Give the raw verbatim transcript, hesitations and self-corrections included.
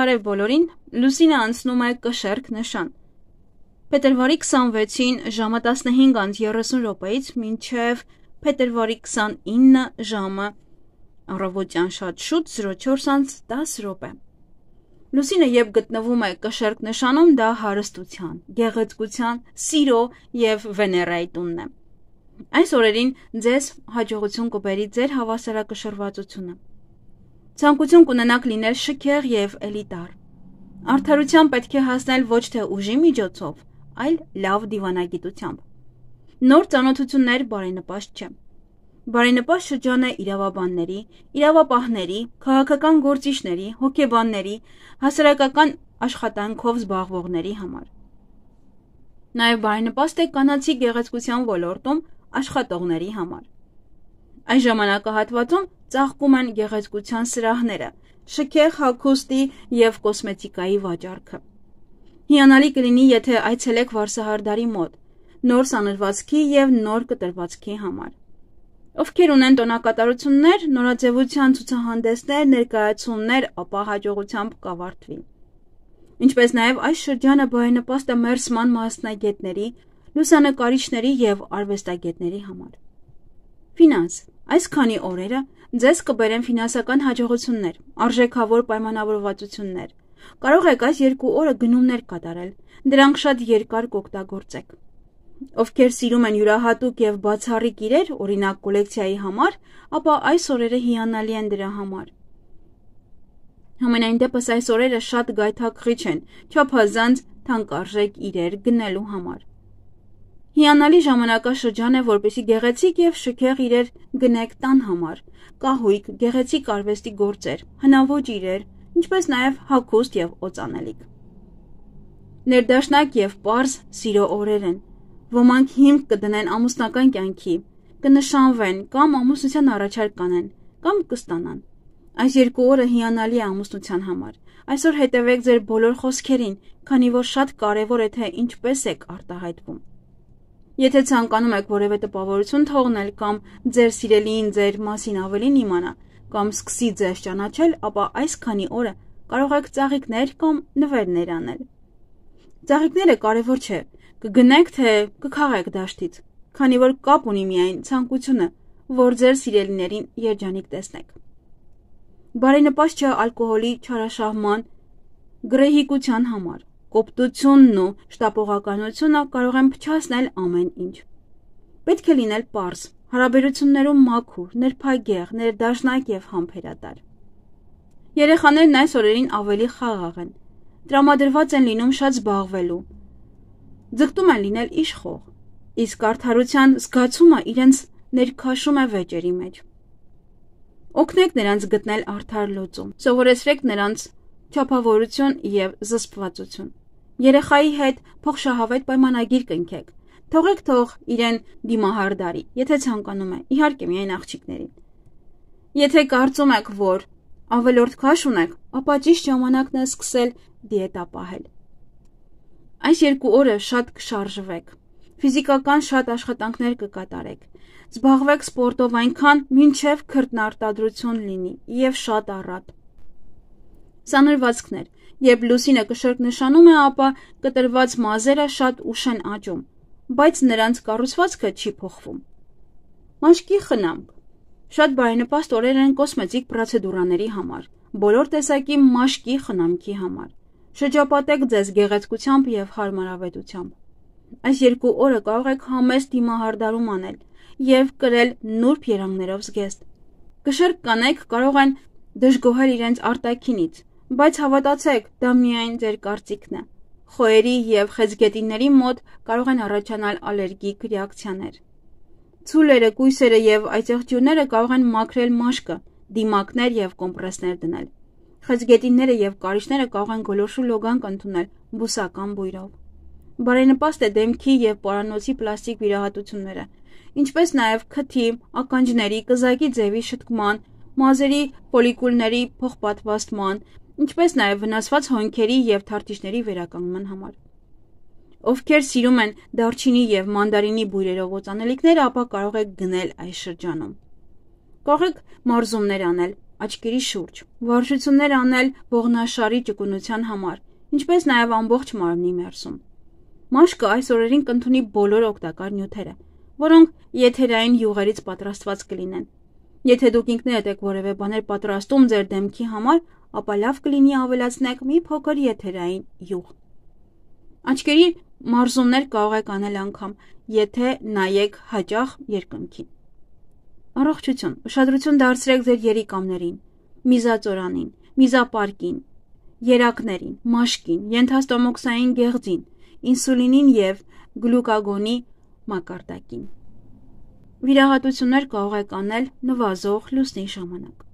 Բարև բոլորին, Լուսինը անցնում է կշեռք նշան։ Փետրվարի քսանվեցին ժամը տասնհինգ անց երեսուն րոպեից մինչև փետրվարի քսանինը ժամը առավոտյան շատ շուտ զրո չորս անց դաս րոպե։ Լուսինը երբ գտնվում է կշեռք նշանում, դա հարստության, գեղեցկության, սիրո և Վեներայի տունն է։ Այս օրերին ձեզ հաջողություն կբերի ձեր հավասարակշռվածությունը։ Ցանկություն կունենաք լինել շքեղ և էլիտար։ Արդարության պետք է հասնել ոչ թե ուժի միջոցով, այլ լավ դիվանագիտությամբ։ Նոր ծանոթություններ բարենպաստ չէ։ Բարենպաստ շրջան է իրավաբանների, իրավապահների, քաղաքական գործիչների, հոգեբանների, հասարակական աշխատանքով զբաղվողների համար։ Նաև բարենպաստ է կանացի գեղեցկության ոլորտում աշխատողների համար։ Այս ժամանակահատվածում ծաղկում են գեղեցկության սրահները, շքեղ հագուստի և կոսմետիկայի վաճառքը։ Հիանալի կլինի, եթե այցելեք Վարսահարդարի մոտ, նոր սանրվածքի և նոր կտրվածքի համար։ Ովքեր ունեն տոնակատարություններ, նորաձևության ցուցահանդեսներ, ներկայացումներ, ապա հաջողությամբ կավարտվի։ Ինչպես նաև այս շրջանը բարենպաստ է մերսման մասնագետների, լուսանկարիչների և արվեստագետների համար։ Ֆինանս։ Այս քանի օրերը ձեզ կբերեն ֆինանսական հաջողություններ, արժեքավոր պայմանավորվածություններ։ Կարող եք այս երկու օրը գնումներ կատարել, դրանք շատ երկար կօգտագործեք։ Ովքեր սիրում են յուրահատուկ և բացառիկ իրեր, օրինակ կոլեկցիայի համար, ապա այս օրերը հիանալի են դրա համար։ Համենայն դեպս այս օրերը շատ գայթակղիչ են, չափազանց թանկարժեք իրեր գնելու համար։ Հիանալի ժամանակաշրջան է, որպեսզի գեղեցիկ և շքեղ իրեր գնեք տան համար, կահույք, գեղեցիկ արվեստի գործեր, հնաոճ իրեր, ինչպես նաև հագուստ և օծանելիք։ Ներդաշնակ և պարզ սիրո օրեր են։ Ոմանք հիմք կդնեն ամուսնական կյանքի, կնշանվեն կամ ամուսնության առաջարկ կանեն, կամ կստանան։ Այս երկու օրը հիանալի է ամուսնության համար։ Այսօր հետևեք ձեր բոլոր խոսքերին, քանի որ շատ կարևոր է, թե ինչպես եք արտահայտվում։ Եթե ցանկանում եք որևէ տպավորություն թողնել կամ ձեր սիրելիին ձեր մասին ավելին իմանա, կամ սկսի ձեզ ճանաչել, ապա այս քանի օրը կարող եք ծաղիկներ կամ նվերներ անել։ Ծաղիկները կարևոր չէ, կգնեք թե կքաղեք դաշտից, քանի որ կապ ունի միայն ցանկությունը, որ ձեր սիրելիներին երջանիկ տեսնեք։ Բարենպաստ չէ ալկոհոլի չարաշահման, գռեհիկության համար։ Կոպտությունն ու շտապողականությունը կարող են փչացնել ամեն ինչ։ Պետք է լինել պարզ, հարաբերություններում մաքուր, նրբագեղ, ներդաշնակ և համբերատար։ Երեխաներն այս օրերին ավելի խաղաղ են, տրամադրված են լինում շատ զբաղվելու, ձգտում են լինել իշխող, իսկ արդարության զգացումը իրենց ներքաշում է վեճերի մեջ։ Օգնեք նրանց գտնել արդար լուծում, սովորեցրեք նրանց չափավորություն և զսպվածություն։ Երեխայի հետ փոխշահավետ պայմանագիր կնքեք, թողեք թող իրեն դիմահարդարի, եթե ցանկանում է, իհարկե միայն աղջիկներին։ Եթե կարծում եք, որ ավելորդ քաշ ունեք, ապա ճիշտ ժամանակն է սկսել դիետա պահել։ Այս երկու օրը շատ կշարժվեք, ֆիզիկական շատ աշխատանքներ կկատարեք, զբաղվեք սպորտով այնքան, մինչև քրտնարտադրություն լինի և շատ առատ։ Սանրվածքներ։ Երբ լուսինը կշեռք նշանում է, ապա կտրված մազերը շատ ուշ են աճում, բայց նրանց կառուցվածքը չի փոխվում։ Մաշկի խնամք։ Շատ բարենպաստ օրեր են կոսմետիկ պրոցեդուրաների համար, բոլոր տեսակի մաշկի խնամքի համար։ Շրջապատեք ձեզ գեղեցկությամբ և հարմարավետությամբ։ Այս երկու օրը կարող եք համեստ դիմահարդարում անել և կրել նուրբ երանգներով զգեստ։ Կշեռք կանայք կարող են դժգոհել իրենց արտաքինից, բայց հավատացեք, դա միայն ձեր կարծիքն է։ Խոյերի և խեցգետինների մոտ կարող են առաջանալ ալերգիկ ռեակցիաներ։ Ցուլերը, կույսերը և այծեղջյուրները կարող են մաքրել մաշկը, դիմակներ և կոմպրեսներ դնել։ Խեցգետինները և կարիճները կարող են գոլորշու լոգանք ընդունել բուսական բույրով։ Բարենպաստ է դեմքի և պարանոցի պլաստիկ վիրահատությունները, ինչպես նաև քթի, ականջների, կզակի ձևի շտկման, մազերի ֆոլիկուլների փոխպատվաստման, ինչպես նաև վնասված հոնքերի և թարթիչների վերականգնման համար։ Ովքեր սիրում են դարչինի և մանդարինի բույրերով օծանելիքները, ապա կարող եք գնել այս շրջանում։ Կարող եք մարզումներ անել, աչքերի շուրջ, վարժություններ անել ողնաշարի ճկունության համար, ինչպես նաև ամբողջ մարմնի ներսում։ Մաշկը այս օրերին կընդունի բոլոր օգտակար նյութերը, որոնք եթերային յուղերից պատրաստված կլինեն։ Եթե դուք ինքներդ եք որևէ բաներ պատրաստում ձեր դեմքի համար, ապա լավ կլինի ավելացնեք մի փոքր եթերային յուղ։ Աչքերի մարզումներ կարող եք անել անգամ, եթե նայեք հաճախ երկնքին։ Առողջություն, ուշադրություն դարձրեք ձեր երիկամներին, միզածորանին, միզապարկին, երակներին, մաշկին, ենթաստոմոքսային գեղձին, ինսուլինին և գլուկագոնի մակարդակին։ Վիրահատություններ կարող եք անել նվազող լուսնի ժամանակ։